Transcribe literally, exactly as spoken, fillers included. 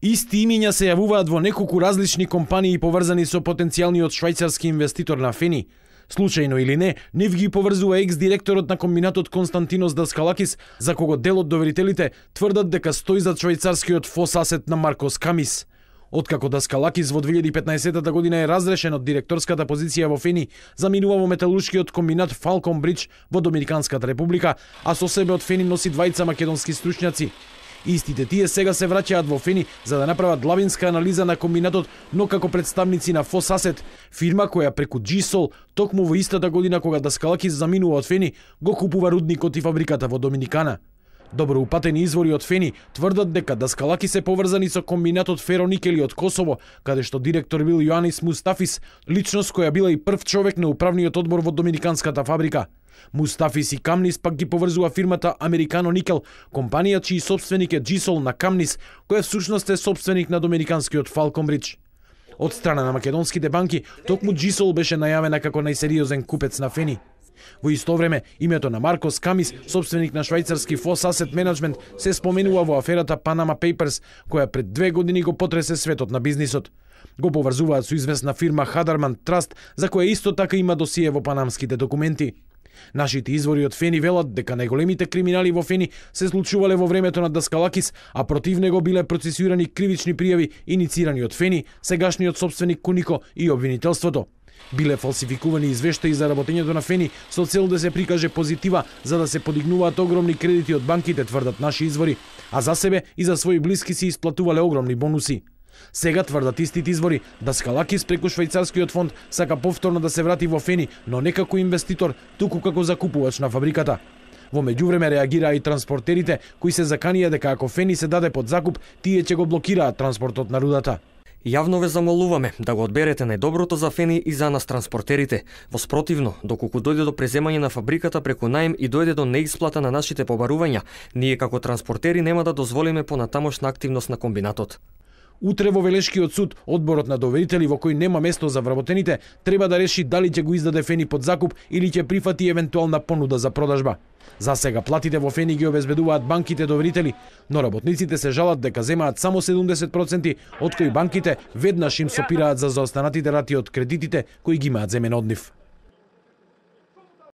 Исти имиња се јавуваат во неколку различни компании поврзани со потенцијалниот швајцарски инвеститор на Фени. Случајно или не, нив ги поврзува екс-директорот на комбинатот Константинос Даскалакис, за кого дел од доверителите тврдат дека стои зад швајцарскиот фосасет на Маркос Камис. Откако Даскалакис во две илјади и петнаесетта година е разрешен од директорската позиција во Фени, заминува во металуршкиот комбинат Фалкон Бридж во Доминиканската република, а со себе од Фени носи двајца македонски стручњаци. Истите тие сега се враќаат во Фени за да направат длабинска анализа на комбинатот, но како представници на Фосасет, фирма која преку Джисол, токму во истата година кога Даскалакис заминува од Фени, го купува рудникот и фабриката во Доминикана. Добро упатени извори од Фени тврдат дека Даскалакис се поврзани со комбинатот Фероникели од Косово, каде што директор бил Јоанис Мустафис, личност која била и прв човек на управниот одбор во Доминиканската фабрика. Мустафис и Камнис пак ги поврзува фирмата Американо Никел, компанија чиј собственик е Джисол на Камнис, која всушност е собственик на доминиканскиот Фалкон Бридж. Од страна на македонските банки, токму Джисол беше најавена како најсериозен купец на Фени. Во исто време, името на Маркос Камис, собственик на швајцарски Foss Asset Management, се споменува во аферата Panama Papers, која пред две години го потресе светот на бизнисот. Го поврзуваат со известна фирма Хадарман Траст, за која исто така има досие во панамските документи. Нашите извори од Фени велат дека најголемите криминали во Фени се случувале во времето на Даскалакис, а против него биле процесуирани кривични пријави иницирани од Фени, сегашниот собственик Кунико и обвинителството. Биле фалсификувани извештаи за работењето на Фени со цел да се прикаже позитива за да се подигнуваат огромни кредити од банките, тврдат наши извори, а за себе и за своји блиски се исплатувале огромни бонуси. Сега тврдат истите извори, Даскалакис преку швајцарскиот фонд сака повторно да се врати во Фени, но не како инвеститор, туку како закупувач на фабриката. Во меѓувреме реагираа и транспортерите, кои се заканија дека ако Фени се даде под закуп, тие ќе го блокираат транспортот на рудата. Јавно ве замолуваме да го одберете најдоброто за Фени и за нас транспортерите. Во спротивно, доколку дојде до преземање на фабриката преку наем и дојде до неисплата на нашите побарувања, ние како транспортери нема да дозволиме понатамошна активност на комбинатот. Утре во Велешкиот суд, одборот на доверители во кој нема место за вработените, треба да реши дали ќе го издаде Фени под закуп или ќе прифати евентуална понуда за продажба. За сега платите во Фени ги обезбедуваат банките доверители, но работниците се жалат дека земаат само седумдесет проценти, од кои банките веднаш им сопираат за заостанатите рати од кредитите кои ги имаат земен од нив.